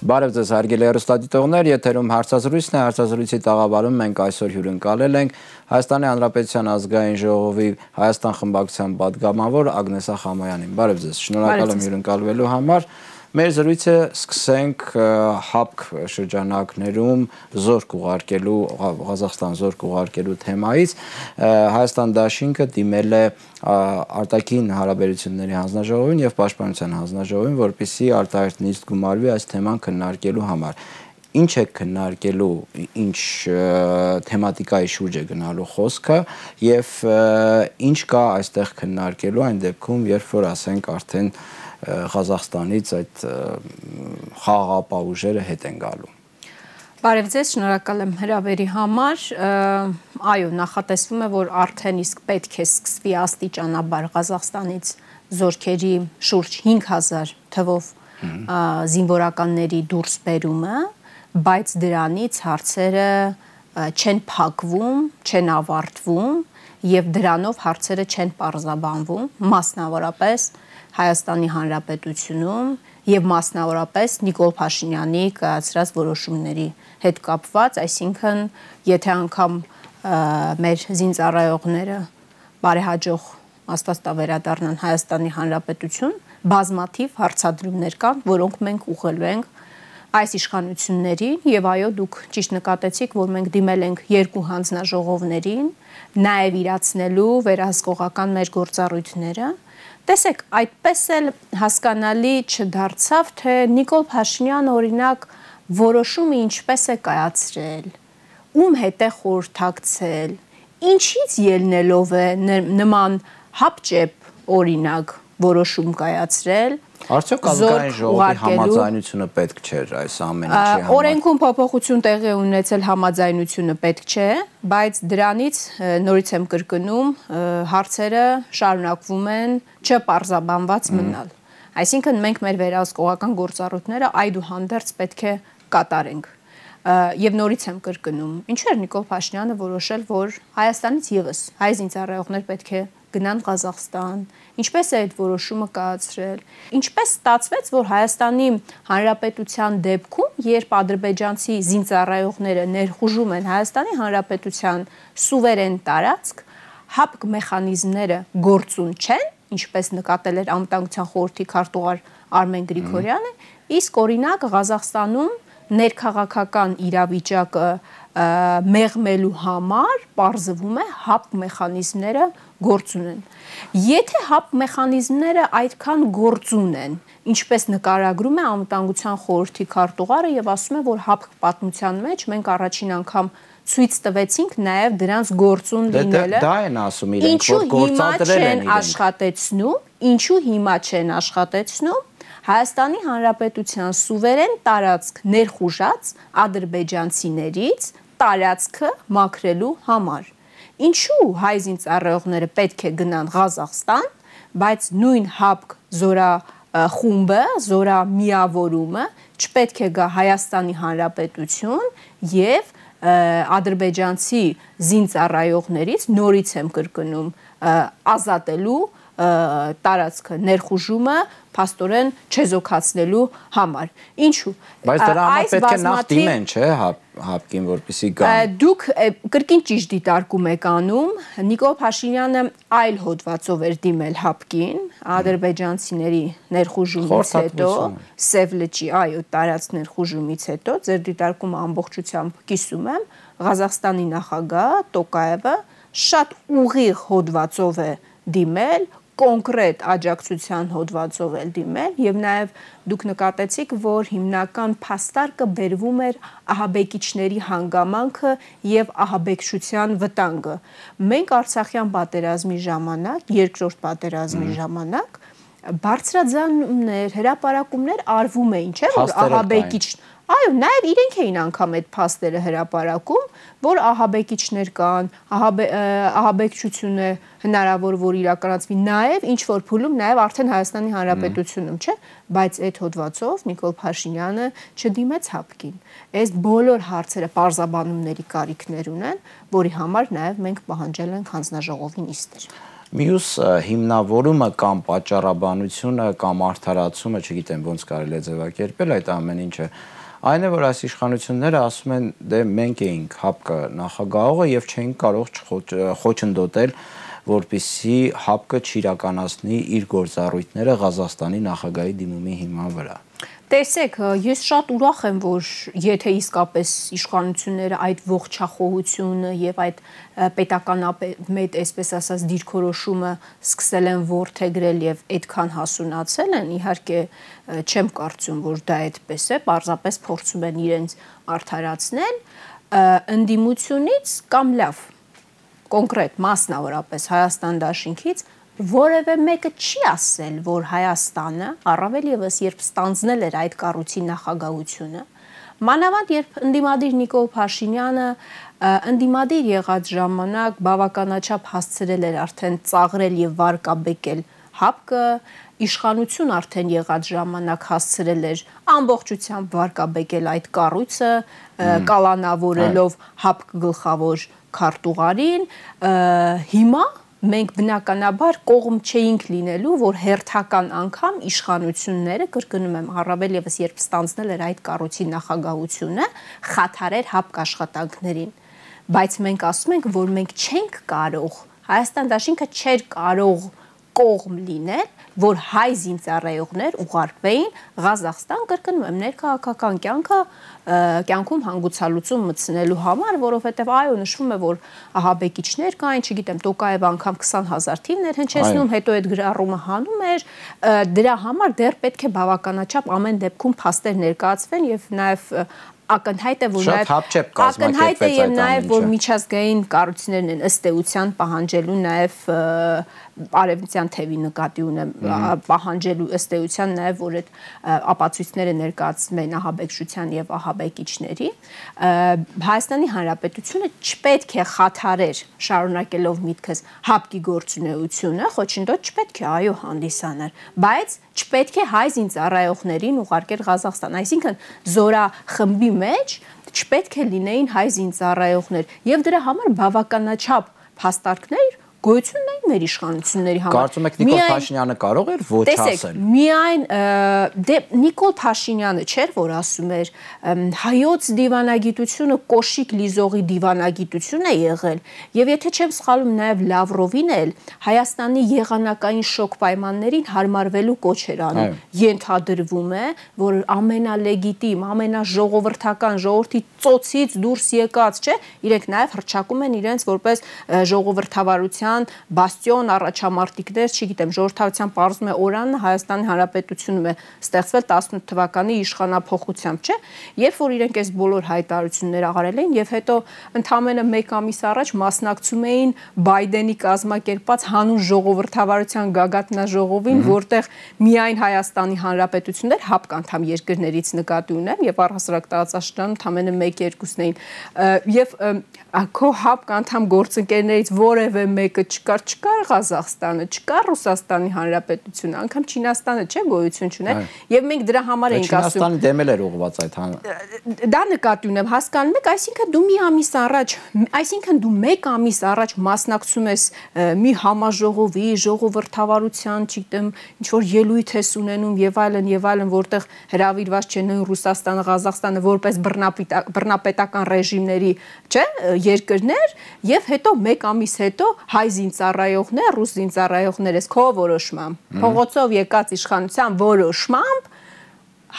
Բարև ձեզ հարգելի հեռուստադիտողներ, եթերում հարցազրույցն է, հարցազրույցի տաղավարում մենք այսօր հյուրընկալել ենք Հայաստանի Հանրապետության ազգային ժողովի Հայաստան խմբակցության պատգամավոր Ագնեսա Խամոյանին։ Բարև ձեզ, շնորհակալ եմ հյուրընկալվելու համար։ Մեր զրույցը սկսենք ՀԱՊԿ շրջանակներում զորք ուղարկելու, Ղազախստան զորք ուղարկելու թեմայից։ Հայաստան դաշինքը դիմել է արտաքին հարաբերությունների հանձնաժողովին եւ պաշտպանության հանձնաժողովին, որպեսզի արտահայտ նիստ գումարվի այս թեման քննարկելու համար։ Ինչ է քննարկելու, ինչ թեմատիկայի շուրջ է գնալու խոսքը եւ ինչ կա այստեղ քննարկելու այն դեպքում, երբ որ ասենք արդեն Ղազախստանից այդ խաղաղապահ ուժերը հետ են գալու։ Բարև ձեզ, շնորհակալ եմ հրավերի համար։ Այո, նախատեսվում է, որ արդեն իսկ պետք է սկսվի աստիճանաբար Ղազախստանից զորքերի շուրջ 5000 թվով զինվորականների դուրսբերումը, բայց դրանից հարցերը չեն փակվում, չեն ավարտվում եւ դրանով հարցերը չեն պարզաբանվում, մասնավորապես Հայաստանի Հանրապետությունում եւ մասնավորապես Նիկոլ Փաշինյանի կայացրած որոշումների հետ կապված, այսինքն եթե անգամ մեր զինծառայողները բարեհաջող աստվածտավերադառնան Հայաստանի Հանրապետություն, բազմաթիվ հարցադրումներ կան, որոնք մենք ուղղելու ենք այս իշխանություններին եւ այո դուք ճիշտ նկատեցիք, որ մենք դիմել ենք երկու հանձնաժողովներին, նաեւ իրացնելու վերահսկողական մեր գործառույթները։ Տեսեք, այդպես էլ հասկանալի չդարձավ, թե Նիկոլ Փաշինյանը օրինակ որոշումը ինչպես է կայացրել, ում հետ է խորհրդակցել, ինչից ելնելով է նման հապճեպ օրինակ որոշում կայացրել։ Արդյոք ազգային ժողովի համաձայնությունը պետք չէր այս ամեն ինչի համար։ Օրենքում փոփոխություն տեղի ունեցել համաձայնությունը պետք չէ, բայց դրանից նորից եմ կրկնում, հարցերը շարունակվում են չպարզաբանված մնալ։ Այսինքն մենք մեր վերահսկողական գործառույթները այդուհանդերձ պետք է կատարենք։ Եվ նորից եմ կրկնում, ինչու էր Նիկոլ Փաշինյանը որոշել, որ Հայաստանից եւս հայ զինծառայողներ պետք է գնան Ղազախստան, ինչպես է այդ որոշումը կայացրել, ինչպես ստացվեց, որ Հայաստանի Հանրապետության դեպքում, երբ ադրբեջանցի զինծառայողները ներխուժում են Հայաստանի Հանրապետության սուվերեն տարածք, ՀԱՊԿ մեխանիզմները գործուն չեն, ինչպես նկատել էր Անվտանգության խորհրդի քարտուղար Արմեն Գրիգորյանը, իսկ օրինակ Ղազախստանում ներքաղաքական իրավիճակը մեղմելու համար պարզվում է ՀԱՊԿ մեխանիզմները գործուն են։ Եթե ՀԱՊԿ մեխանիզմները այդքան գործուն են, ինչպես նկարագրում է Անվտանգության խորհրդի քարտուղարը եւ ասում է, որ ՀԱՊԿ պատմության մեջ մենք առաջին անգամ ցույց տվեցինք նաեւ դրանց գործուն լինելը։ Դա են ասում իրենք, որ գործադրել են Ինչու հիմա չեն աշխատեցնում Հայաստանի Հանրապետության սուվերեն տարածք ներխուժած ադրբեջանցիներից տարածքը մաքրելու համար։ Ինչու հայ զինծառայողները պետք է գնան Ղազախստան, բայց նույն ՀԱՊԿ զորախումբը, զորամիավորումը չպետք է գա Հայաստանի Հանրապետություն եւ ադրբեջանցի զինծառայողներից նորից եմ կրկնում ազատելու տարածքը ներխուժումը փաստորեն չեզոքացնելու համար։ Ինչու՞։ Բայց դրա համար պետք է նախ դիմեն, չէ՞, ՀԱՊԿ-ին, որպեսզի գան։ Դուք կրկին ճիշտ դիտարկում եք անում, Նիկոլ Փաշինյանը այլ հոդվածով էր դիմել ՀԱՊԿ-ին, ադրբեջանցիների ներխուժումից հետո, Սև լճի, այո, տարածք ներխուժումից հետո, ձեր դիտարկումը ամբողջությամբ կիսում եմ, Ղազախստանի նախագահ Տոկաևը շատ ուղիղ հոդվածով է դիմել, կոնկրետ աջակցության հոդվածով էլ դիմել եւ նաեւ դուք նկատեցիք, որ հիմնական փաստարկը բերվում էր ահաբեկիչների հանգամանքը եւ ահաբեկչության վտանգը։ Մենք Արցախյան պատերազմի ժամանակ, երկրորդ պատերազմի ժամանակ բարձրաձանումներ, հրապարակումներ արվում էին, չէ՞ որ ահաբեկիչ Այո, նաև իրենք էին անգամ այդ փաստերը հրապարակում, որ ահաբեկիչներ կան, ահաբեկչություն է հնարավոր որ իրականացվի նաև ինչ որ փուլում նաև արդեն Հայաստանի Հանրապետությունում, չէ՞, բայց այդ հոդվածով Նիկոլ Փաշինյանը չդիմեց ՀԱՊԿ-ին։ Այս բոլոր հարցերը պարզաբանումների կարիքներ ունեն, որի համար նաև մենք պահանջել ենք հանձնաժողովի նիստեր։ Մյուս հիմնավորումը կամ պատճառաբանությունը կամ արդարացումը, չգիտեմ ոնց կարելի է ձևակերպել այդ ամեն ինչը, այն է, որ այս իշխանությունները ասում են, դե մենք էինք ՀԱՊԿ նախագահողը եւ չենք կարող խոչընդոտել, որպեսզի ՀԱՊԿ չիրականացնի իր գործառույթները Ղազախստանի նախագահի դիմումի հիման վրա։ Տեսեք, ես շատ ուրախ եմ, որ եթե իսկապես իշխանությունները այդ ողջախոհությունը եւ այդ պետականապետ, այսպես ասած, դիրքորոշումը սկսել են ворթեգրել եւ այդքան հասունացել են, իհարկե չեմ կարծում, որ դա այդպես է, պարզապես փորձում են իրենց արդարացնել ընդդիմությունից կամ լավ կոնկրետ մասնավորապես Հայաստան դաշինքից որևէ մեկը չի ասել, որ Հայաստանը, առավել ևս երբ ստանձնել էր այդ կառույցի նախագահությունը, մանավանդ երբ ընդդիմադիր Նիկոլ Փաշինյանը ընդդիմադիր եղած ժամանակ բավականաչափ հասցրել էր արդեն ծաղրել եւ վարկաբեկել ՀԱՊԿ, իշխանություն արդեն եղած ժամանակ հասցրել էր ամբողջությամբ վարկաբեկել այդ կառույցը, կալանավորելով ՀԱՊԿ գլխավոր քարտուղարին, հիմա մենք բնականաբար կողմ չէինք լինելու, որ հերթական անգամ իշխանությունները, կրկնում եմ, առավել ևս երբ ստանձնել էր այդ կառույցի նախագահությունը, խաթարեր ՀԱՊԿ աշխատանքներին, բայց մենք ասում ենք, որ մենք չենք կարող, Հայաստան դաշինքը չէր կարող կողմ լինել, որ հայ զինծառայողներ ուղարկվեին Ղազախստան, կրկնում եմ, ներքաղաքական կյանքում հանգուցալուծում մտցնելու համար, որովհետև այո նշվում է, որ ահաբեկիչներ կային, չգիտեմ, Տոկաևը անգամ 20,000 թիվներ հնչեցնում, հետո այդ գրառումը հանում էր, դրա համար դեռ պետք է բավականաչափ ամեն դեպքում փաստեր ներկայացվեն եւ նաեւ ակնհայտ է, որ նաև որ միջազգային կառույցներն են ըստ էության պահանջելու նաև արևմտյան թևի նկատի ունեմ պահանջելու ըստ էության նաև որ այդ ապացույցները ներկայացվեն ահաբեկչության եւ ահաբեկիչների Հայաստանի Հանրապետությունը չպետք է խաթարեր շարունակելով միտքս ՀԱՊԿ-ի գործունեությունը խոչընդոտ չպետք է այո հանդիսանար բայց չպետք է հայ զինծառայողներին ուղարկել Ղազախստան այսինքն զորախմբի մեջ չպետք է լինեին հայ զինծառայողներ եւ դրա համար բավականաչափ փաստարկներ գոյություն ունեն մեր իշխանությունների համար։ Կարծում եք Նիկոլ Փաշինյանը կարող էր ոչ ասել։ Տեսեք, միայն Նիկոլ Փաշինյանը չէր, որ ասում էր հայոց դիվանագիտությունը կոշիկ լիզողի դիվանագիտություն է եղել, եւ եթե չեմ սխալվում նաև Լավրովին էլ Հայաստանի եղանակային շոկ պայմաններին հարմարվելու կոչ էր անում։ Ենթադրվում է, որ ամենալեգիտիմ, ամենաժողովրդական ժողովրդի ծոցից դուրս եկած, չէ, իրենք նաև հռչակում են իրենց որպես ժողովրդավարության բաստիոն առաջամարտիկներ, չգիտեմ, ժողովրդավարության պարզում է օրանը Հայաստանի Հանրապետությունում է ստեղծվել 18 թվականի իշխանափոխությամբ, չէ, երբ որ իրենք այս բոլոր հայտարարությունները արել են եւ հետո ընդամենը 1 ամիս առաջ մասնակցում էին Բայդենի կազմակերպած հանուն ժողովրդավարության գագաթնաժողովին, որտեղ միայն Հայաստանի Հանրապետությունն էր ՀԱՊԿ անդամ երկրներից նկատի ունեմ եւ առհասարակ տարածաշրջանում ընդամենը 1-2-ն էին եւ քո ՀԱՊԿ անդամ գործընկերներից որևէ մեկը չկար Ղազախստանը, չկար Ռուսաստանի Հանրապետությունը, անգամ Չինաստանը չէ գոյություն չուներ եւ մենք դրա համար էինք ասում Չինաստանը դեմել էր ուղղված այդ դա նկատի ունեմ, հասկանում եք, այսինքն դու մի ամիս առաջ, այսինքն դու 1 ամիս առաջ մասնակցում ես մի համաժողովի, ժողովրդավարության, չգիտեմ, ինչ որ ելույթ ես ունենում եւ այլն, որտեղ հրավիրված չեն Ռուսաստանը, Ղազախստանը որպես բռնապետական ռեժիմների, չէ, երկրներ եւ հետո 1 ամիս հետո հայ զինծառայողներ, ռուս զինծառայողներ ես քո որոշմամբ, փողոցով եկած իշխանության որոշմամբ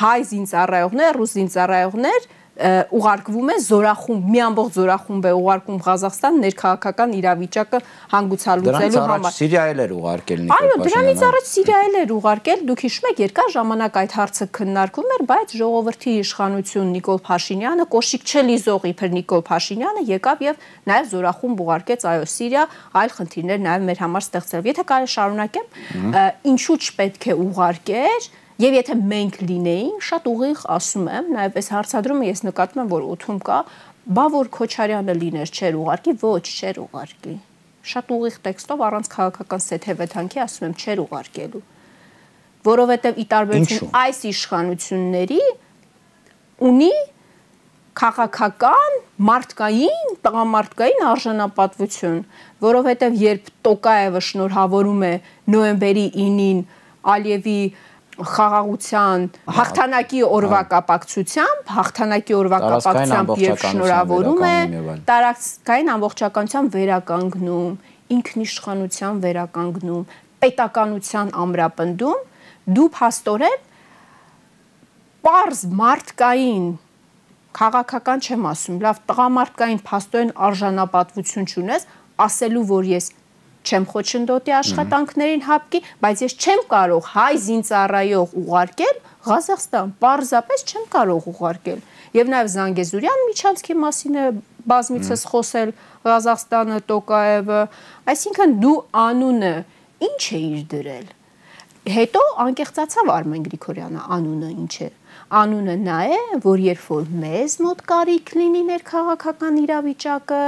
հայ զինծառայողներ, ռուս զինծառայողներ ուղարկվում է զորախումբ, մի ամբողջ զորախումբ է ուղարկում Ղազախստան ներքաղաքական իրավիճակը հանգուցալուծելու համար։ Սիրիա էլ էր ուղարկել Նիկոլ Փաշինյանը։ Այո, դրանից առաջ Սիրիա էլ էր ուղարկել, դուք հիշում եք, երկար ժամանակ այդ հարցը քննարկվում էր, բայց ժողովրդի իշխանություն Նիկոլ Փաշինյանը, կոշիկ չլիզող իբր Նիկոլ Փաշինյանը եկավ եւ նաեւ զորախումբ ուղարկեց այո Սիրիա, այլ խնդիրներ նաեւ մեր համար ստեղծել։ Եթե կարելի շարունակեմ, ինչու չպետք է ուղարկեր Եվ եթե մենք լինեինք, շատ ուղիղ ասում եմ, նաև այս հարցադրումը ես նկատում եմ, որ օդում կա, բա որ Քոչարյանը լիներ չէր ուղարկի, ոչ չէր ուղարկի։ Շատ ուղիղ տեքստով առանց քաղաքական սեթևեթանքի ասում եմ չէր ուղարկելու։ Որովհետև ի տարբերություն այս իշխանությունների ունի քաղաքական, մարդկային, տղամարդկային արժանապատվություն, որովհետև երբ Տոկաևը շնորհավորում է նոյեմբերի 9-ին Ալիևի խաղաղության հաղթանակի օրվա կապակցությամբ եւ շնորհավորում է տարածքային ամբողջականության վերականգնում, ինքնիշխանության վերականգնում, պետականության ամրապնդում, դու փաստորեն պարզ մարդկային քաղաքական չեմ ասում, լավ տղամարդկային փաստորեն արժանապատվություն չունես, ասելու որ ես չեմ խոչընդոտի աշխատանքներին հապկի, բայց ես չեմ կարող հայ զինծառայող ուղարկել Ղազախստան, պարզապես չեմ կարող ուղարկել։ Եվ նաև Զանգեզուրյան միջանցքի մասին է բազմիցս խոսել Ղազախստանը, Տոկաևը, այսինքն դու անունը ինչ է իր դրել։ Հետո անկեղծացավ Արմեն Գրիգորյանը, անունը ինչ է։ Անունը նա է, որ երբ որ մեզ մոտ կարիք լինի ներքաղաքական իրավիճակը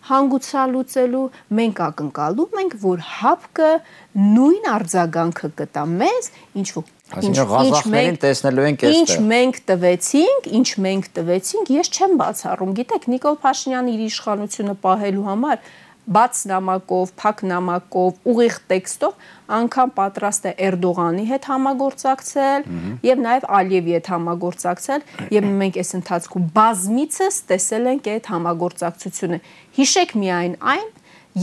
հանգուցալուծելու, մենք ակնկալում ենք, որ հապկը նույն արձագանքը կտա մեզ, ինչ մենք տվեցինք, ես չեմ բացառում։ Գիտեք, Նիկոլ Փաշինյանը իր իշխանությունը պահելու համար բաց նամակով, փակ նամակով, ուղիղ տեքստով անգամ պատրաստ է Էրդողանի հետ համագործակցել եւ նաեւ Ալիևի հետ համագործակցել եւ մենք այս ընթացքում բազմիցս տեսել ենք այդ համագործակցությունը։ Հիշեք միայն այն,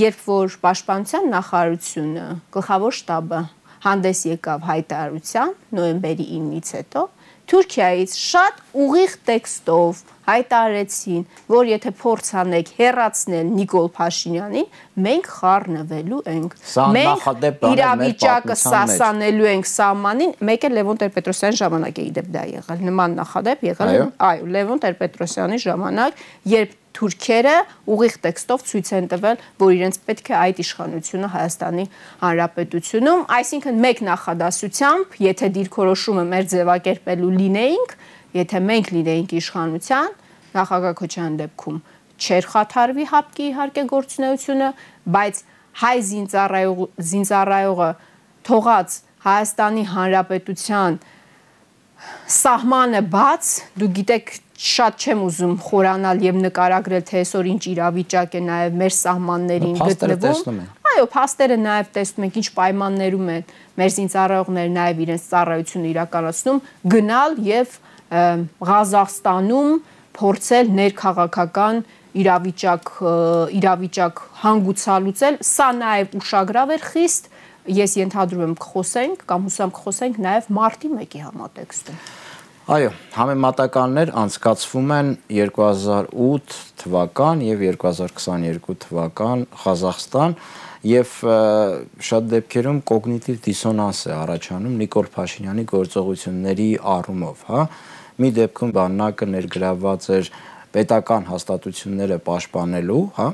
երբ որ Պաշտպանության նախարարությունը, գլխավոր շտաբը հանդես եկավ հայտարարության նոյեմբերի 9-ից հետո Թուրքիայից շատ ուղիղ տեքստով հայտարարեցին, որ եթե փորձ անեք հեռացնել Նիկոլ Փաշինյանին, մենք խառնվելու ենք։ Մենք իրավիճակը սասանելու ենք սահմանին, մեկ է Լևոն Տեր-Պետրոսյանի ժամանակ է իդեպ դա եղել, նման նախադեպ եղել, այո, Լևոն Տեր-Պետրոսյանի ժամանակ, երբ թուրքերը ուղիղ տեքստով ցույց են տվել, որ իրենց պետք է այդ իշխանությունը Հայաստանի Հանրապետությունում, այսինքն մեկ նախադասությամբ, եթե դիրքորոշումը մեր ձևակերպելու լինեինք, եթե մենք լինեինք իշխանության, նախագահ Քոչարյանի դեպքում չէր խաթարվի հապկի իհարկե գործունեությունը, բայց հայ զինծառայողը թողած Հայաստանի Հանրապետության սահմանը բաց, դու գիտեք, շատ չեմ ուզում խորանալ եւ նկարագրել, թե այսօր ինչ իրավիճակ է նաեւ մեր սահմաններին գտնվում։ Այո, փաստերը նաեւ տեսնում ենք, ինչ պայմաններում են մեր զինծառայողները նաեւ իրենց ծառայությունը իրականացնում, գնալ եւ Ղազախստանում փորձել ներքաղաքական իրավիճակ հանգուցալուծել, սա նաեւ ուշագրավ էր խիստ, ես ենթադրում եմ կխոսենք կամ հուսամ կխոսենք նաեւ մարտի 1-ի համատեքստում։ Այո, համեմատականներ անցկացվում են 2008 թվական եւ 2022 թվական Ղազախստան եւ շատ դեպքերում կոգնիտիվ դիսոնանս է առաջանում Նիկոլ Փաշինյանի գործողությունների առումով, հա։ Մի դեպքում բանակը ներգրավված էր պետական հաստատությունները պաշտպանելու, հա,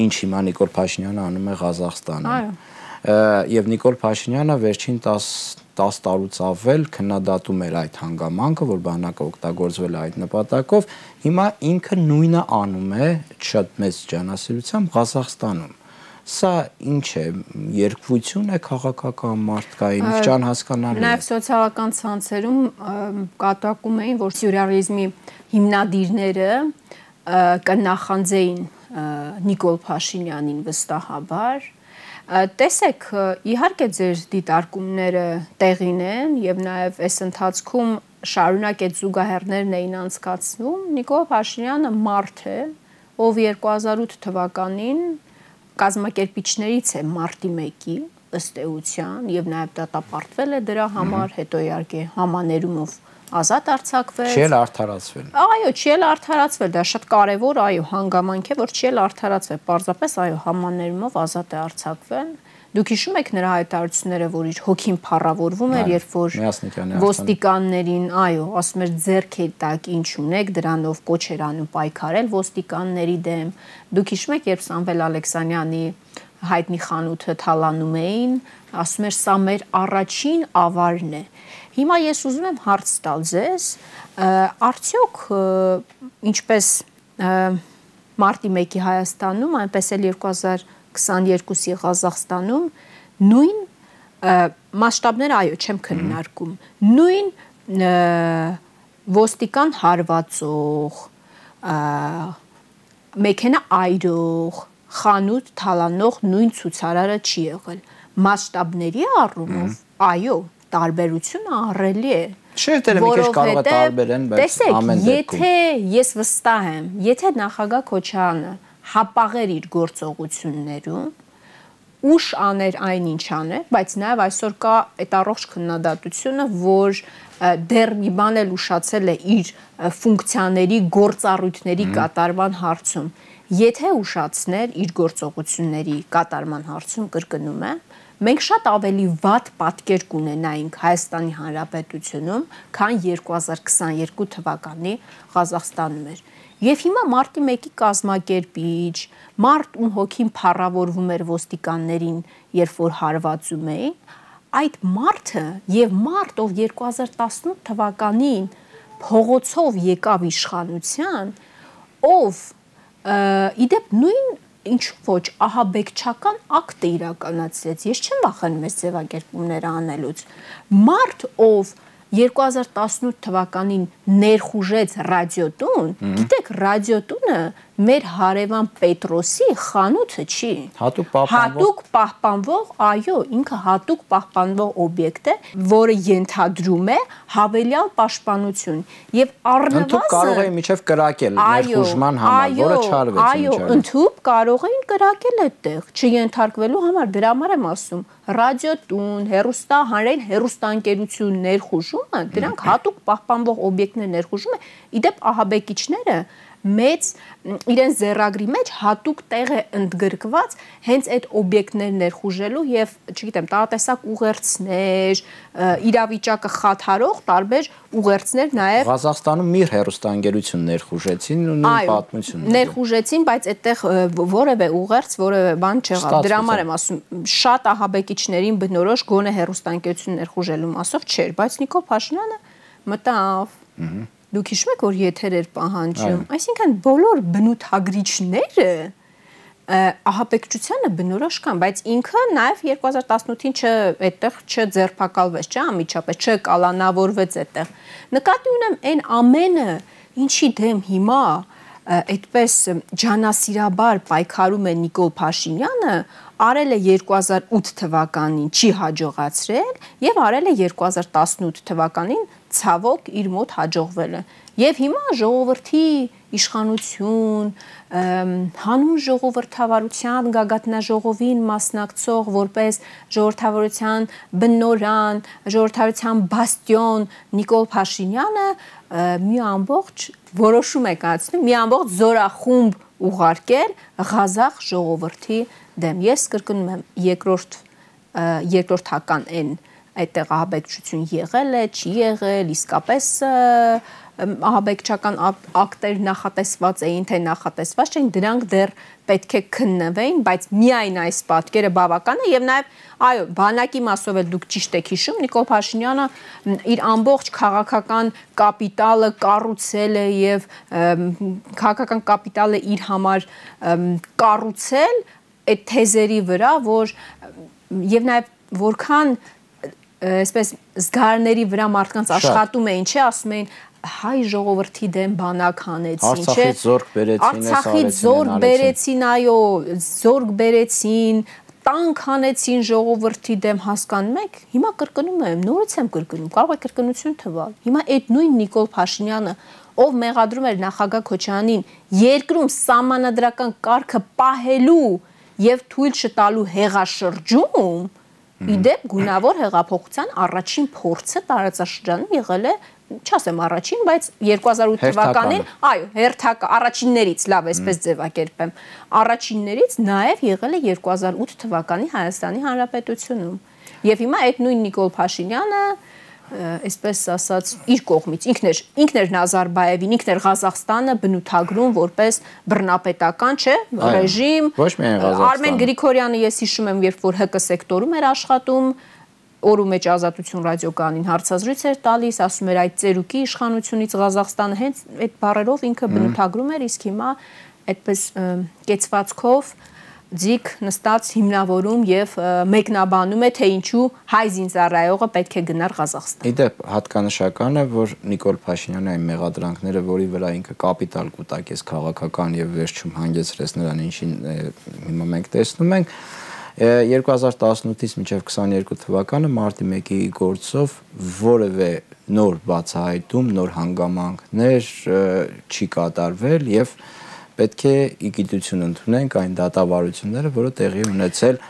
ինչ հիմա Նիկոլ Փաշինյանը անում է Ղազախստանում։ Եվ Նիկոլ Փաշինյանը վերջին 10 տարուց ավել քննադատում էր այդ հանգամանքը, որ բանակը օգտագործվել է այդ նպատակով, հիմա ինքը նույնը անում է շատ մեծ ջանասիրությամբ Ղազախստանում։ Սա ինչ է, երկվություն է քաղաքական մարդկային, ճան հասկանալի է։ Նաև սոցիալական ցանցերում կատակում էին, որ սյուրռեալիզմի հիմնադիրները կնախանձեին Նիկոլ Փաշինյանին վստահաբար։ Տեսեք, իհարկե ձեր դիտարկումները տեղին են եւ նաեւ այս ընթացքում շարունակ այդ զուգահեռներն էին անցկացվում։ Նիկոլ Փաշինյանը մարդ է, ով 2008 թվականին կազմակերպիչներից է մարտի 1-ի ըստ էության եւ նաեւ դատապարտվել է դրա համար, հետո իհարկե համաներումով ազատ արձակվեց։ Չի արդարացվել։ Այո, չի արդարացվել, դա շատ կարևոր, այո, հանգամանք է, որ չի արդարացվել, պարզապես այո, համաներումով ազատ է արձակվել։ Դուք հիշում եք նրա հայտարարությունները, որ իր հոգին փառավորվում էր, երբ որ ոստիկաններին, այո, ասում էր ձեռքի տակ ինչ ունեք, դրանով կոչ էր անում պայքարել ոստիկանների դեմ։ Դուք հիշում եք, երբ Սամվել Ալեքսանյանի հայտնի խանութը թալանում էին, ասում էր սա մեր առաջին ավարն է։ Հիմա ես ուզում եմ հարց տալ ձեզ, արդյոք ինչպես մարտի 1-ի Հայաստանում, այնպես էլ 2022-ի Ղազախստանում նույն մասշտաբները, այո, չեմ քննարկում, նույն ոստիկան հարվածող, մեքենա այրող, խանութ թալանող նույն ցուցարարը չի եղել։ Մասշտաբների առումով, այո, տարբերությունը ահռելի է։ Չէ, դերը մի քիչ կարող է տարբերեն, բայց ամեն դեպքում։ Եթե ես վստահ եմ, եթե նախագահ Քոչարյանը հապաղեր իր գործողություններում, ուշ աներ այնինչ աներ, բայց նաև այսօր կա այդ առողջ քննադատությունը, որ դեռ մի բան էլ ուշացել է իր ֆունկցիաների, գործառույթների կատարման հարցում։ Եթե ուշացներ իր գործողությունների կատարման հարցում, կրկնում եմ, մենք շատ ավելի վատ պատկեր կունենայինք Հայաստանի Հանրապետությունում, քան 2022 թվականի Ղազախստանում էր։ Եվ հիմա մարտի 1-ի կազմակերպիչ, մարդ ում հոգին փառավորվում էր ոստիկաններին, երբ որ հարվածում էին, այդ մարդը եւ մարդ, ով 2018 թվականին փողոցով եկավ իշխանության, ով իդեպ նույն ինչու ոչ ահաբեկչական ակտ է իրականացրեց, ես չեմ վախենում այս ձևակերպումները անելուց, մարդ, ով 2018 թվականին ներխուժեց ռադիոտուն, գիտեք, ռադիոտունը մեր հարևան Պետրոսի խանութը չի։ Հատուկ պահպանվող, այո, ինքը հատուկ պահպանվող օբյեկտ է, որը ենթադրում է հավելյալ պաշտպանություն։ Եվ առնվազն ընդհանուր կարող էին միջև կրակել ներխուժման համար, որը չարվեց։ Այո, ընդհանուր կարող էին կրակել այդտեղ, չենթարկվելու համար, դրա համար եմ ասում, ռադիոտուն, հանրային հեռուստաընկերություն ներխուժումը, դրանք հատուկ պահպանվող օբյեկտներ ներխուժումը, իդեպ ահաբեկիչները մեծ իրեն ձեռագրի մեջ հատուկ տեղ է ընդգրկված հենց այդ օբյեկտներ ներխուժելու եւ, չգիտեմ, տարատեսակ ուղերձներ, իրավիճակը խաթարող տարբեր ուղերձներ նաեւ Ղազախստանում մի հեռուստաընկերություն ներխուժեցին ու նույն պատմությունն ներխուժեցին, բայց այդտեղ որևէ ուղերձ, որևէ բան չեղավ։ Դրա համար եմ ասում, շատ ահաբեկիչներին բնորոշ գոնե հեռուստաընկերություն ներխուժելու մասով չէր, բայց Նիկոլ Փաշինյանը մտավ։ Դուք հիշում եք, որ եթեր էր պահանջում, այսինքն բոլոր բնութագրիչները ահաբեկչությանը բնորոշ կան, բայց ինքը նաև 2018-ին այդտեղ չձերբակալվեց, անմիջապես չկալանավորվեց այդտեղ։ Նկատի ունեմ այն ամենը, ինչի դեմ հիմա այդպես ջանասիրաբար պայքարում է Նիկոլ Փաշինյանը, արել է 2008 թվականին չի հաջողացրել եւ արել է 2018 թվականին ցավոք իր մոտ հաջողվել է։ Եվ հիմա ժողովրդի իշխանություն, հանուն ժողովրդավարության գագաթնաժողովին մասնակցող որպես ժողովրդավարության բնօրան, ժողովրդավարության բաստիոն Նիկոլ Փաշինյանը մի ամբողջ որոշում է կայացնում, մի ամբողջ զորախումբ ուղարկել Ղազախ ժողովրդի դեմ։ Ես կրկնում եմ, երկրորդական են այդտեղ ահաբեկչություն եղել է, չի եղել, իսկապես ահաբեկչական ակտեր նախատեսված էին, թե նախատեսված չէին, դրանք դեռ պետք է քննվեին, բայց միայն այս պատկերը բավական է եւ նաեւ այո, բանակի մասով էլ դուք ճիշտ եք հիշում, Նիկոլ Փաշինյանը իր ամբողջ քաղաքական կապիտալը կառուցել է եւ քաղաքական կապիտալը իր համար կառուցել այդ թեզերի վրա, որ եւ նաեւ որքան այսպես զգարների վրա մարդկանց աշխատում էին, չէ, ասում էին հայ ժողովրդի դեմ բանակ հանեցին, չէ, Արցախից զորք բերեցին, այո, զորք բերեցին, տանկ հանեցին ժողովրդի դեմ, հասկանում եք, հիմա կրկնում եմ, նորից եմ կրկնում, կարող է կրկնություն թվալ, հիմա այդ նույն Նիկոլ Փաշինյանը, ով մեղադրում էր նախագահ Քոչարյանին երկրում սահմանադրական կարգը պահելու եւ թույլ չտալու հեղաշրջում, իդեպ գունավոր հեղափոխության առաջին փորձը տարածաշրջանում եղել է, չասեմ առաջին, բայց 2008 թվականին, այո, առաջիններից, լավ, այսպես ձևակերպեմ, առաջիններից նաև եղել է 2008 թվականի Հայաստանի Հանրապետությունում։ Եվ հիմա այդ նույն Նիկոլ Փաշինյանը, այսպես ասած, իր կողմից ինքն էր Նազարբաևին, ինքն էր Ղազախստանը բնութագրում որպես բռնապետական, չէ, ռեժիմ։ Արմեն Գրիգորյանը, ես հիշում եմ, երբ որ ՀԿ սեկտորում էր աշխատում, օրու մեջ Ազատություն ռադիոկայանին հարցազրույց էր տալիս, ասում էր այդ ծերուկի իշխանությունից Ղազախստանը հենց այդ բառերով ինքը բնութագրում էր, իսկ հիմա այդպես կեցվածքով ձիգ նստած հիմնավորում եւ մեկնաբանում է, թե ինչու հայ զինծառայողը պետք է գնար Ղազախստան։ Իդեպ հատկանշական է, որ Նիկոլ Փաշինյանի այն մեղադրանքները, որի վրա ինքը կապիտալ կուտակեց քաղաքական եւ վերջում հանգեցրեց նրան, ինչին հիմա մենք տեսնում ենք, 2018-ից մինչև 22 թվականը մարտի 1-ի գործով որևէ նոր բացահայտում, նոր հանգամանքներ չի կատարվել եւ պետք է իգիտություն ընդունենք այն դատավարությունները, որը տեղի ունեցել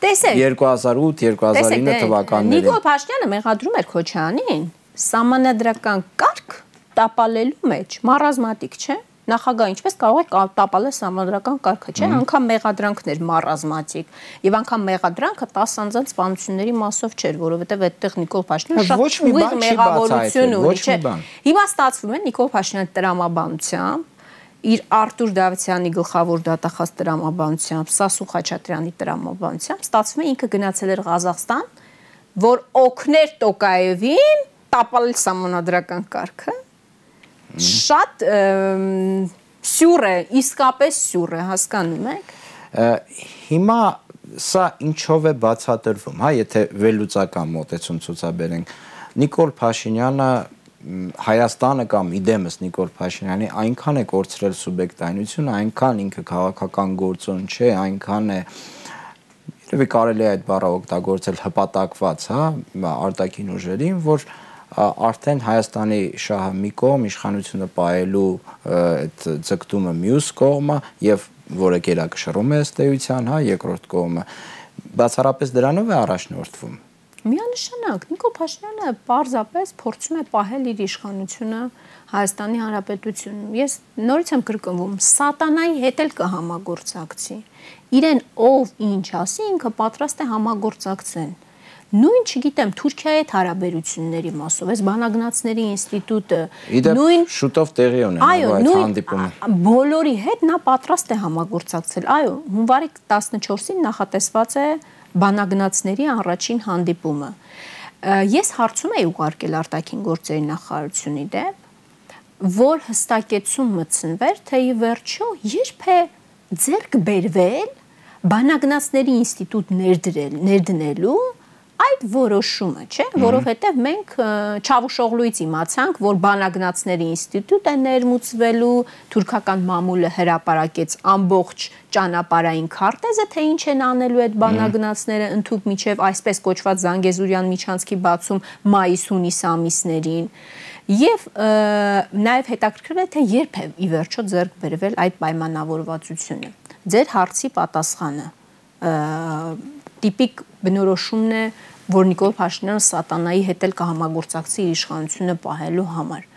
2008-2009 թվականներին։ Նիկոլ Փաշինյանը մեղադրում էր Քոչարյանին սահմանադրական կարգ տապալելու մեջ, մարազմատիկ, չէ՞։ Նախագահ ինչպես կարող է տապալել սահմանադրական կարգը, չէ՞։ Անգամ մեղադրանքներ մարազմատիկ եւ անգամ մեղադրանքը 10 անձանց սպանությունների մասով չէր, որովհետեւ այդտեղ Նիկոլ Փաշինյանը շատ ուղիղ մեղավորություն ունի, չէ։ Հիմա ստացվում է Նիկոլ Փաշինյանի տրամաբանությամբ իր Արտուր Դավթյանի գլխավոր դատախազ տրամաբանությամբ, Սասուն Խաչատրյանի տրամաբանությամբ ստացվում է ինքը գնացել էր Ղազախստան, որ օգներ Տոկաևին տապալել սահմանադրական կարգը։ Շատ սյուր է, իսկապես սյուր է, հասկանում եք։ Հիմա սա ինչով է բացատրվում, հա, եթե վերլուծական մոտեցում ցուցաբերենք։ Նիկոլ Փաշինյանը Հայաստանը կամ իդեմս Նիկոլ Փաշինյանի այնքան է կորցրել սուբյեկտայնությունը, այնքան ինքը քաղաքական գործոն չէ, այնքան է երևի կարելի է այդ բառը օգտագործել հպատակված, հա, արտաքին ուժերին, որ արդեն Հայաստանի շահը մի կողմ, իշխանությունը պահելու այդ ձգտումը մյուս կողմը եւ որը գերակշռում է ըստ էության, հա, երկրորդ կողմը բացառապես դրանով է առաջնորդվում։ Միանշանակ Նիկոլ Փաշինյանը պարզապես փորձում է պահել իր իշխանությունը Հայաստանի Հանրապետությունում։ Ես նորից եմ կրկնվում, սատանայի հետ էլ կհամագործակցի։ Իրեն ով ինչ ասի, ինքը պատրաստ է համագործակցեն։ Նույն, չգիտեմ, Թուրքիայի հետ հարաբերությունների մասով, այս բանագնացների ինստիտուտը, նույն շուտով տեղի ունենալու այդ հանդիպումը։ Բոլորի հետ նա պատրաստ է համագործակցել։ Այո, հունվարի 14-ին նախատեսված է բանագնացների առաջին հանդիպումը։ Ես հարցում էի ուղարկել արտաքին գործերի նախարարությունի դեպ, որ հստակեցում մտցնվեր, թե ի վերջո երբ է ձեռք բերվել բանագնացների ինստիտուտ ներդնելու այդ որոշումը, չէ, որովհետև մենք Չավուշօղլուից իմացանք, որ բանագնացների ինստիտուտ է ներմուծվելու, թուրքական մամուլը հրապարակեց ամբողջ ճանապարհային քարտեզը, թե ինչ են անելու այդ բանագնացները ընդհուպ միջև այսպես կոչված Զանգեզուրյան միջանցքի բացում մայիս-հունիս ամիսներին։ Եվ նաև հետաքրքրվել է, թե երբ է ի վերջո ձեռք բերվել այդ պայմանավորվածությունը։ Ձեր հարցի պատասխանը տիպիկ բնորոշումն է, որ Նիկոլ Փաշինյանը սատանայի հետ էլ կհամագործակցի իր իշխանությունը պահելու համար։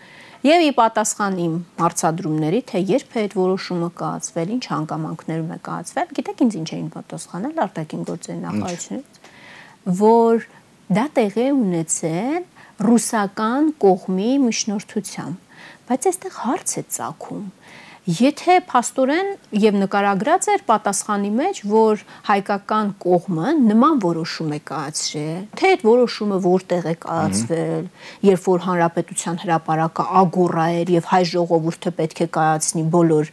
Եվ ի պատասխան իմ հարցադրումների, թե երբ է այդ որոշումը կայացվել, ինչ հանգամանքներում է կայացվել, գիտեք ինձ ինչ էին պատասխանել արտաքին գործերի նախարարությունից, որ դա տեղի է ունեցել ռուսական կողմի միջնորդությամբ, բայց այստեղ հարց է ծագում։ Եթե փաստորեն եւ նկարագրած էր պատասխանի մեջ, որ հայկական կողմը նման որոշում է կայացրել, թե այդ որոշումը որտեղ է կայացվել, երբ որ հանրապետության հրապարակը ագոռա էր եւ հայ ժողովուրդը պետք է կայացնի բոլոր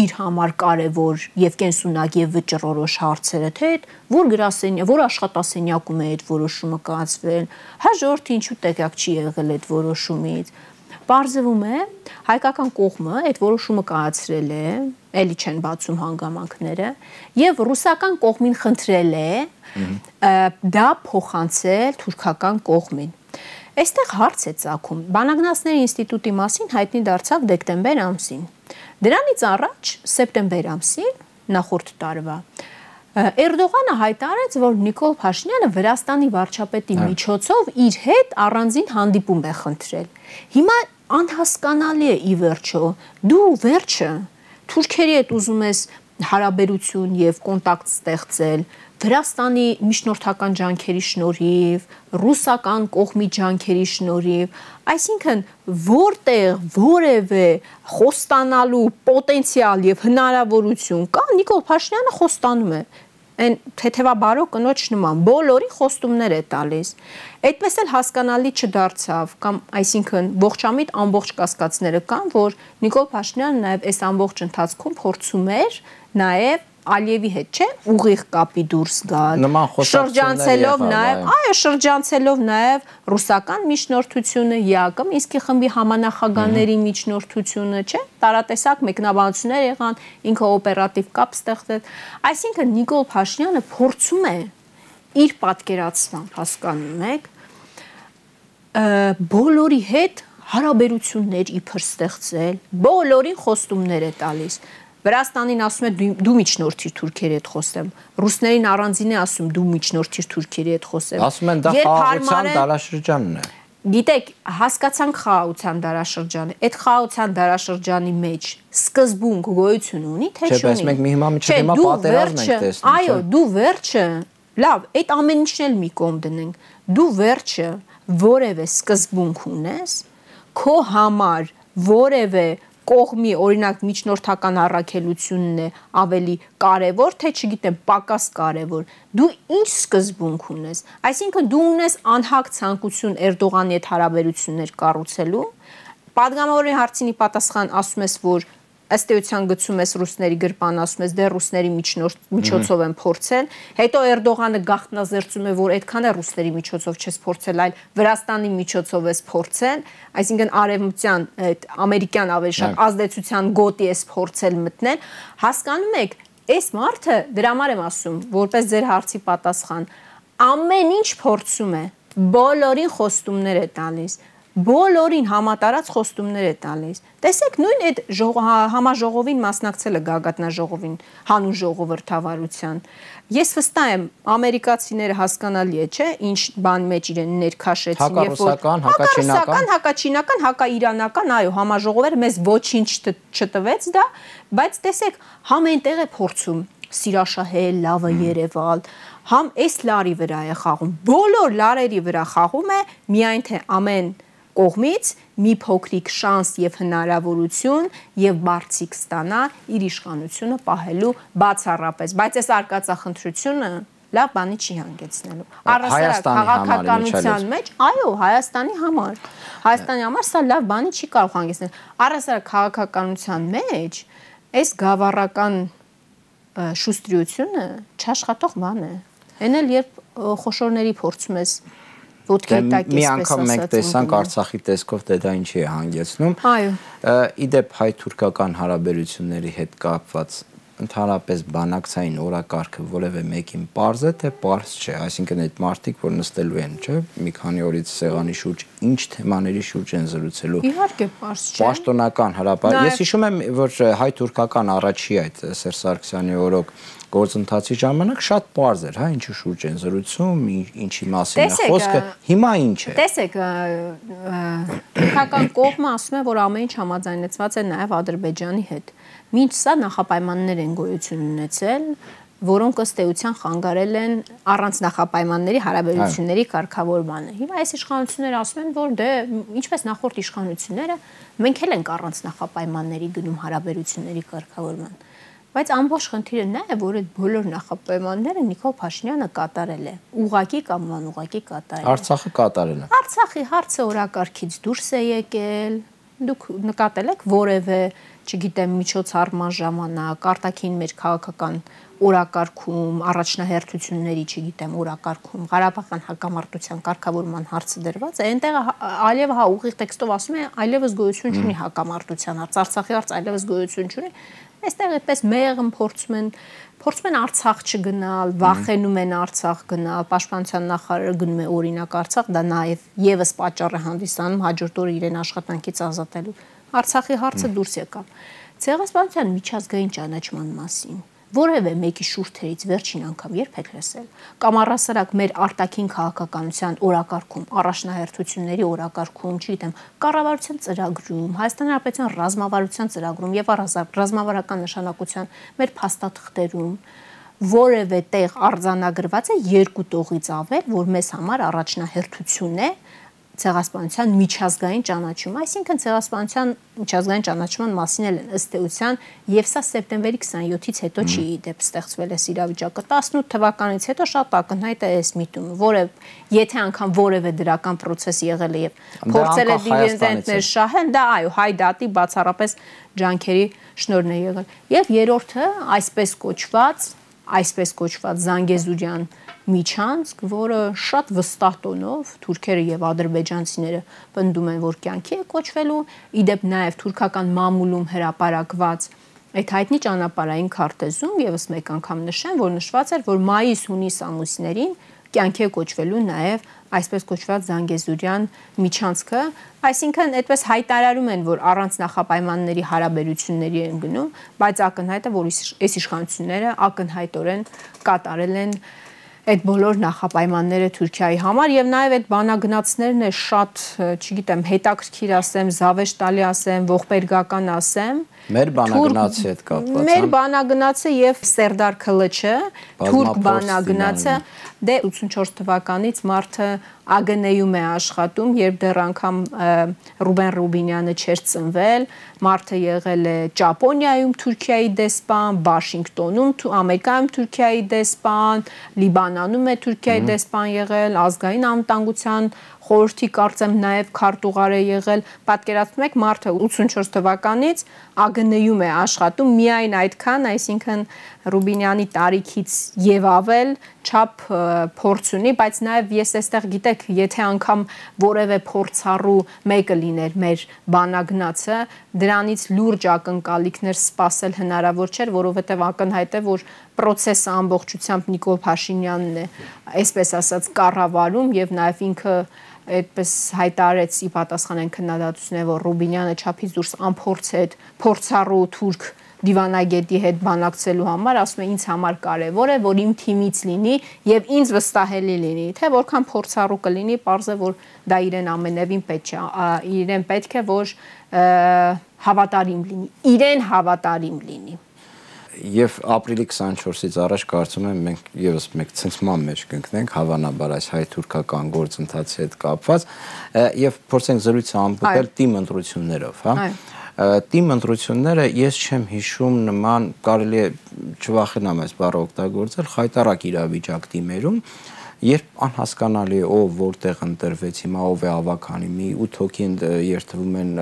իր համար կարեւոր եւ կենսունակ եւ վճռորոշ հարցերը, թե այդ որ գրասենյակ, որ աշխատասենյակում է այդ որոշումը կայացվել, հայ ժողովուրդը ինչու տեղյակ չի եղել այդ որոշումից։ Պարզվում է, հայկական կողմը այդ որոշումը կայացրել է, էլի չեն բացում հանգամանքները, եւ ռուսական կողմին խնդրել է դա փոխանցել թուրքական կողմին։ Այստեղ հարց է ծագում։ Բանագնացների ինստիտուտի մասին հայտնի դարձավ դեկտեմբեր ամսին։ Դրանից առաջ սեպտեմբեր ամսին նախորդ տարվա Էրդողանը հայտարարեց, որ Նիկոլ Փաշինյանը Վրաստանի վարչապետի միջոցով իր հետ առանձին հանդիպում է խնդրել։ Հիմա անհասկանալի է ի վերջո, դու վերջը թուրքերի հետ ուզում ես հարաբերություն եւ կոնտակտ ստեղծել, Վրաստանի միջնորդական ջանքերի շնորհիվ, ռուսական կողմի ջանքերի շնորհիվ, այսինքն որտեղ որևէ խոստանալու պոտենցիալ եւ հնարավորություն կա, Նիկոլ Փաշինյանը խոստանում է այն թեթևաբարո կնոջ նման բոլորի խոստումներ է տալիս։ Այդպես էլ հասկանալի չդարձավ կամ այսինքն ողջամիտ ամբողջ կասկածները կան, որ Նիկոլ Փաշինյանը նաև այս ամբողջ ընթացքում փորձում էր նաև Ալիևի հետ, չէ, ուղիղ կապի դուրս գալ, շրջանցելով նաև ռուսական միջնորդությունը, ԵԱԿ Մինսկի խմբի համանախագահների միջնորդությունը, չէ, տարատեսակ մեկնաբանություններ եղան, ինքը օպերատիվ կապ ստեղծեց, այսինքն Նիկոլ Փաշինյանը փորձում է իր պատկերացմամբ, հասկանում եք, բոլորի հետ հարաբերություններ իբր ստեղծել, բոլորին խոստումներ է տալիս։ Վրաստանին ասում է դու միջնորդիր թուրքերի հետ խոսեմ, ռուսներին առանձին է ասում դու միջնորդիր թուրքերի հետ խոսեմ։ Ասում են դա խաղաղության դարաշրջանն է։ Գիտեք, հասկացանք խաղաղության դարաշրջանը, այդ խաղաղության դարաշրջանի մեջ սկզբունք գոյություն ունի, թե չունի։ Չէ, բայց մենք մի հիմա պատերազմ ենք տեսնում։ Այո, դու վերջը, լավ, այդ ամեն ինչն էլ մի կողմ դնենք, դու վերջը որևէ սկզբունք ունես, քո համար որևէ կողմի, օրինակ միջնորդական առաքելությունն է ավելի կարևոր, թե չգիտեմ, պակաս կարևոր, դու ինչ սկզբունք ունես, այսինքն դու ունես անհագ ցանկություն Էրդողանի հետ հարաբերություններ կառուցելու, պատգամավորի հարցինի պատասխան ասում ես, որ ըստ էության գցում ես ռուսների գրպան, ասում ես դեռ ռուսների միջոցով են փորձել, հետո Էրդողանը գաղտնազերծում է, որ այդքան է ռուսների միջոցով չես փորձել, այլ Վրաստանի միջոցով ես փորձել, այսինքն արևմտյան, ամերիկյան ավելի շատ ազդեցության գոտի ես փորձել մտնել, հասկանում եք, այս մարդը, դրա համար եմ ասում, որպես ձեր հարցի պատասխան, ամեն ինչ փորձում է, բոլորին խոստումներ է տալիս, բոլորին համատարած խոստումներ է տալիս։ Տեսեք, նույն այդ համաժողովին մասնակցել է գագաթնաժողովին, հանուն ժողովրդավարության։ Ես վստահ եմ, ամերիկացիները հասկանալի է, չէ, ինչ բան մեջ իրեն ներքաշեցին, հակաչինական, հակաիրանական, այո, համաժողովերը մեզ ոչինչ չտվեց դա, բայց տեսեք, համ այնտեղ է փորձում սիրաշահել, լավը երևալ, համ այս լարի վրա է խաղում, բոլոր լարերի վրա խաղում է, միայն թե ամեն կողմից մի փոքրիկ շանս եւ հնարավորություն եւ բարձիկ ստանա իր իշխանությունը պահելու բացառապես, բայց այս արկածախնդրությունը լավ բանի չի հանգեցնելու։ Առասարակ քաղաքականության մեջ, այո, Հայաստանի համար սա լավ բանի չի կարող հանգեցնել։ Առասարակ քաղաքականության մեջ այս գավառական շուստրությունը չաշխատող բան է։ Էն էլ երբ խոշորների փորձում ես մի անգամ մենք տեսանք Արցախի տեսքով դա ինչի է հանգեցնում։ Իդեպ հայ-թուրքական հարաբերությունների հետ կապված ընդհանրապես բանակցային օրակարգը որևէ մեկին պարզ է, թե պարզ չէ, այսինքն այդ մարդիկ, որ նստելու են, չէ, մի քանի օրից սեղանի շուրջ, ինչ թեմաների շուրջ են զրուցելու։ Իհարկե պարզ չէ։ Պաշտոնական հրապարակ։ Ես հիշում եմ, որ հայ-թուրքական առաջի այդ Սերժ Սարգսյանի օրոք գործընթացի ժամանակ շատ պարզ էր, հա, ինչի շուրջ են զրուցում, ինչի մասին է խոսքը, հիմա ինչ է։ Տեսեք, թուրքական կողմը ասում է, որ ամեն ինչ համաձայնեցված է նաև Ադրբեջանի հետ։ Մինչ սա նախապայմաններ են գոյություն ունեցել, որոնք ըստ էության խանգարել են առանց նախապայմանների հարաբերությունների կարգավորմանը։ Հիմա այս իշխանությունները ասում են, որ դե ինչպես նախորդ իշխանությունները, մենք էլ ենք առանց նախապայմանների գնում հարաբերությունների կարգավորման։ Բայց ամբողջ խնդիրը նա է, որ այդ բոլոր նախապայմանները Նիկոլ Փաշինյանը կատարել է, ուղղակի կամ անուղղակի կատարել է։ Արցախը կատարել է։ Արցախի հարցը օրակարգից դուրս է եկել։ Դուք նկատել եք որևէ, չգիտեմ, միջոցառման ժամանակ, արտաքին մեր քաղաքական օրակարգում, առաջնահերթությունների, չգիտեմ, օրակարգում, Ղարաբաղյան հակամարտության կարգավորման հարցը դրված է, այնտեղ Ալիևը ուղիղ տեքստով ասում է, այլևս գոյություն չունի հակամարտության հարց, Արցախի հարց այլևս գոյություն չունի։ Այստեղ այդպես մեղմ փորձում են Արցախ չգնալ, վախենում են Արցախ գնալ, Պաշտպանության նախարարը գնում է օրինակ Արցախ, դա նաև եւս պատճառ է հանդիսանում հաջորդ օրը իրեն աշխատանքից ազատելու։ Արցախի հարցը դուրս եկավ։ Ցեղասպանության միջազգային ճանաչման մասին որևէ մեկի շուրթերից վերջին անգամ երբ եք լսել, կամ առասարակ մեր արտաքին քաղաքականության օրակարգում, առաջնահերթությունների օրակարգում, չգիտեմ, կառավարության ծրագրում, Հայաստանի Հանրապետության ռազմավարության ծրագրում եւ ռազմավարական նշանակության մեր փաստաթղթերում որևէ տեղ արձանագրված է երկու տողից ավել, որ մեզ համար առաջնահերթություն է ցեղասպանության միջազգային ճանաչումը, այսինքն ցեղասպանության միջազգային ճանաչման մասին էլ ըստ էության եւ սա սեպտեմբերի 27-ից հետո չի դեպ ստեղծվել է իրավիճակը 18 թվականից հետո շատ ակնհայտ է այս միտումը, որը եթե անգամ որևէ դրական process եղել է եւ փորձել է դիվիդենդներ շահել, դա այո, հայ դատի բացառապես ջանքերի շնորհն է եղել։ Եվ երրորդը այսպես կոչված Զանգեզուրյան միջանցք, որը շատ վստահ տոնով թուրքերը եւ ադրբեջանցիները պնդում են, որ կյանքի է կոչվելու, իդեպ նաեւ թուրքական մամուլում հրապարակված այդ հայտնի ճանապարհային քարտեզում եւս մեկ անգամ նշեմ, որ նշված էր, որ մայիս-հունիս ամուսներին կյանքի է կոչվելու նաեւ այսպես կոչված Զանգեզուրյան միջանցքը, այսինքն այդպես հայտարարում են, որ առանց նախապայմանների հարաբերությունների են գնում, բայց ակնհայտ է, որ այս իշխանությունները ակնհայտորեն կատարել են այդ բոլոր նախապայմանները Թուրքիայի համար եւ նաեւ այդ բանագնացներն է շատ, չգիտեմ, հետաքրքիր ասեմ, զավեշտալի ասեմ, ողբերգական ասեմ։ Մեր բանագնացի հետ կապված։ Մեր բանագնացը եւ Սերդար Քլիչը, թուրք բանագնացը, դե 84 թվականից մարդը ԱԳՆ-ում է աշխատում, երբ դեռ անգամ Ռուբեն Ռուբինյանը չէր ծնվել, մարդը եղել է Ճապոնիայում Թուրքիայի դեսպան, Վաշինգտոնում Ամերիկայում Թուրքիայի դեսպան, Լիբանանում է Թուրքիայի դեսպան եղել, ազգային անվտանգության խորհրդի կարծեմ նաև քարտուղար է եղել, պատկերացնում եք մարդը 84 թվականից ԱԳՆ-ում է աշխատում, միայն այդքան, այսինքն Ռուբինյանի տարիքից եւ ավել չափ փորձ ունի, բայց նաև ես այստեղ գիտեք, եթե անգամ որևէ փորձառու մեկը լիներ մեր բանագնացը, դրանից լուրջ ակնկալիքներ սպասել հնարավոր չէր, որովհետեւ ակնհայտ է, որ process-ը ամբողջությամբ Նիկոլ Փաշինյանն է, այսպես ասած, կառավարում եւ նաև ինքը այդպես հայտարարեց ի պատասխան այն քննադատությունների, որ Ռուբինյանը չափից դուրս անփորձ է փորձառու թուրք դիվանագետի հետ բանակցելու համար, ասում է ինձ համար կարևոր է, որ իմ թիմից լինի եւ ինձ վստահելի լինի, թե որքան փորձառու կլինի, պարզ է, որ դա իրեն ամենևին պետք չէ, իրեն պետք է, որ հավատարիմ լինի, իրեն հավատարիմ լինի։ Եվ ապրիլի 24-ից առաջ կարծում եմ մենք եւս մեկ ցնցման մեջ կընկնենք հավանաբար այս հայ-թուրքական գործընթացի հետ կապված եւ փորձենք զրույցը ամփոփել թիմ ընտրություններով, հա։ Թիմ ընտրությունները ես չեմ հիշում նման, կարելի է չվախենամ այս բառը օգտագործել, խայտարակ իրավիճակ թիմերում, երբ անհասկանալի է ով որտեղ ընտրվեց, հիմա ով է ավականի, մի 8 հոգի երթվում են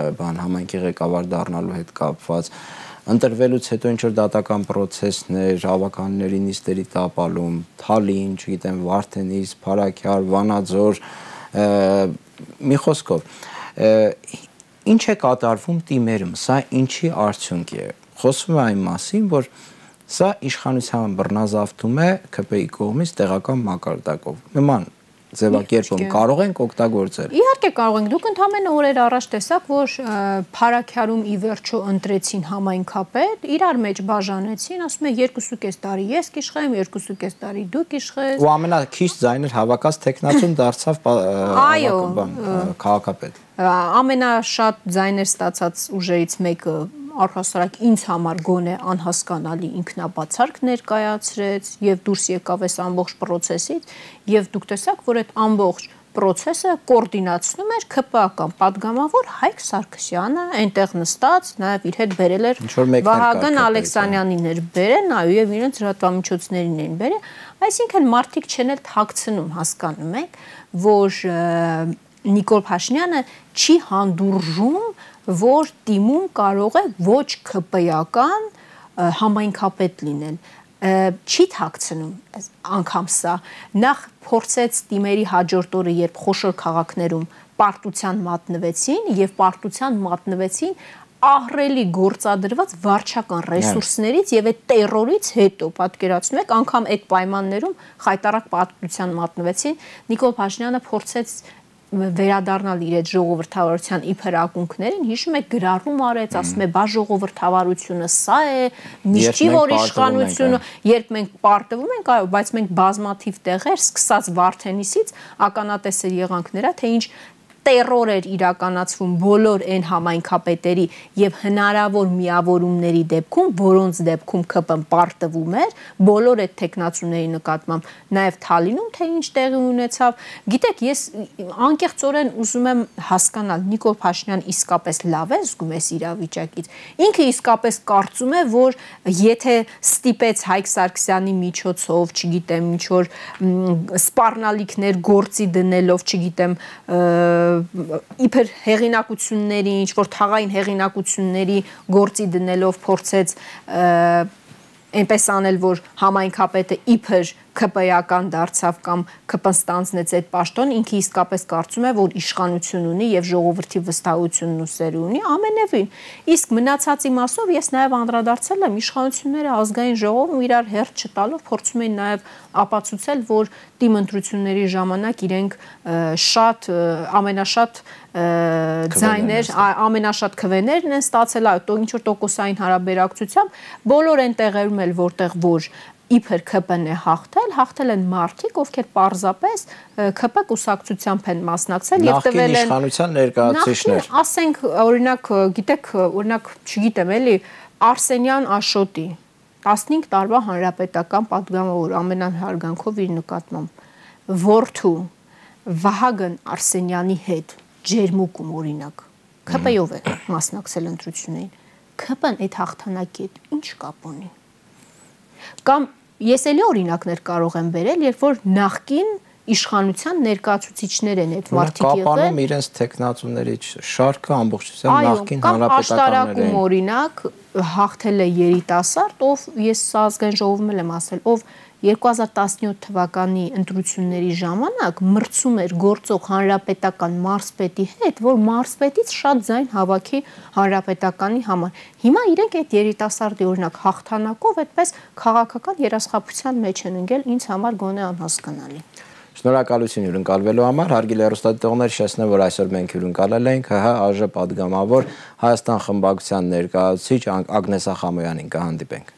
համայնքի ղեկավար դառնալու հետ կապված, ընտրվելուց հետո ինչ որ դատական process-ներ, ավականների նիստերի տապալում, Թալին, չգիտեմ, Վարդենիս, Փարաքյար, Վանաձոր, մի խոսքով, ինչ է կատարվում թիմերում, սա ինչի արդյունք է։ Խոսվում է այն մասին, որ սա իշխանության բռնազավթում է ՔՊԻ կողմից տեղական մակարդակով։ Նման ձևակերպում կարող ենք օգտագործել։ Իհարկե կարող ենք, դուք ընդամենը օրեր առաջ տեսաք, որ Փարաքյարում ի վերջո ընտրեցին համայնքապետ, իրար մեջ բաժանեցին, ասում է 2.5 տարի ես կիշխեմ, 2.5 տարի դու կիշխես։ Ու ամենաքիչ ձայներ հավաքած տեխնացուն դարձավ քաղաքապետ։ Ամենաշատ ձայներ ստացած ուժերից մեկը առհասարակ ինձ համար գոնե անհասկանալի ինքնաբացարկ ներկայացրեց եւ դուրս եկավ այս ամբողջ process-ից եւ դուք տեսաք, որ այդ ամբողջ process-ը կոորդինացնում էր ԿՊԱ-ական падգամավոր Հայկ Սարգսյանը, այնտեղ նստած, նաեւ իր հետ բերել էր Վահագն Ալեքսանյանին էր բերել, նաեւ եւ իրենց լրատվամիջոցներին էին բերել, այսինքն մարդիկ չեն էլ թաքցնում, հասկանում եք, որ Նիկոլ Փաշինյանը չի հանդուրժում, որ թիմում կարող է ոչ ԿՊ-ական համայնքապետ լինել, չի թաքցնում անգամ սա, նախ փորձեց թիմերի հաջորդ օրը, երբ խոշոր քաղաքներում պարտության մատնվեցին եւ պարտության մատնվեցին ահռելի գործադրված վարչական ռեսուրսներից եւ այդ տերորից հետո պատկերացնում եք անգամ այդ պայմաններում խայտարակ պարտության մատնվեցին Նիկոլ Փաշինյանը փորձեց վերադառնալ իր այդ ժողովրդավարության իբր ակունքներին, հիշում եք գրառում արեց, ասում է բա ժողովրդավարությունը սա է, միշտ չի որ իշխանությունը, երբ մենք պարտվում ենք, այո, բայց մենք բազմաթիվ տեղեր սկսած Վարդենիսից ականատեսեր եղանք նրա, թե ինչ տերոր էր իրականացվում բոլոր այն համայնքապետերի եւ հնարավոր միավորումների դեպքում, որոնց դեպքում ԿՊ-ն պարտվում էր, բոլոր այդ տեխնացուների նկատմամբ, նաեւ Թալինում թե ինչ տեղի ունեցավ։ Գիտեք, ես անկեղծորեն ուզում եմ հասկանալ Նիկոլ Փաշինյան իսկապես լավ է զգում այս իրավիճակից։ Ինքը իսկապես կարծում է, որ եթե ստիպեց Հայկ Սարգսյանի միջոցով, չգիտեմ, ինչ որ սպառնալիքներ գործի դնելով, չգիտեմ, իբր հեղինակությունների, ինչ որ թաղային հեղինակությունների գործի դնելով փորձեց այնպես անել, որ համայնքապետը իբր ԿՊ-ական դարձավ կամ ԿՊ-ն ստանձնեց այդ պաշտոն, ինքը իսկապես կարծում է, որ իշխանություն ունի եւ ժողովրդի վստահությունն ու սերը ունի, ամենևին։ Իսկ մնացածի մասով ես նաեւ անդրադարձել եմ իշխանությունները ազգային ժողովում իրար հերթ չտալով փորձում էին նաեւ ապացուցել, որ թիմ ընտրությունների ժամանակ իրենք շատ ամենաշատ ձայներ, ամենաշատ քվեներն են ստացել, այո, ինչ որ տոկոսային հարաբերակցությամբ, բոլոր այն տեղերում էլ որտեղ որ իբր ԿՊ-ն է հաղթել են մարդիկ, ովքեր պարզապես ԿՊ կուսակցությամբ են մասնակցել եւ տվել են իշխանության ներկայացուցիչներ։ Ասենք, օրինակ, գիտեք, օրինակ, չգիտեմ, էլի Արսենյան Աշոտի 15 տարվա հանրապետական պատգամավոր ամենահարգանքով իր նկատմամբ որդու Վահագն Արսենյանի հետ ջերմուկում օրինակ ԿՊ-ով է մասնակցել ընտրություններին։ ԿՊ-ն այդ հաղթանակի հետ ինչ կապ ունի։ Կամ ես էլի օրինակներ կարող եմ բերել, երբ որ նախկին իշխանության ներկայացուցիչներ են այդ մարդիկ եղել։ Կապանում իրենց տեխնացուների շարքը ամբողջությամբ նախկին հանրապետականներ են։ Օրինակ հաղթել է երիտասարդ, ով ես ազգային ժողովում եմ ասել, ով 2017 թվականի ընտրությունների ժամանակ մրցում էր գործող հանրապետական մարզպետի հետ, որ մարզպետից շատ ձայն հավաքի հանրապետականի համար։ Հիմա իրենք այդ երիտասարդի օրինակ հաղթանակով այդպես քաղաքական երաշխափության մեջ են ընկել, ինձ համար գոնե անհասկանալի։ Շնորհակալություն հյուրընկալվելու համար, հարգելի հեռուստադիտողներ, հիշեցնեմ, որ այսօր մենք հյուրընկալել ենք ՀՀ ԱԺ պատգամավոր Հայաստան խմբակցության ներկայացուցիչ Ագնես Ախամոյանին, կհանդիպենք։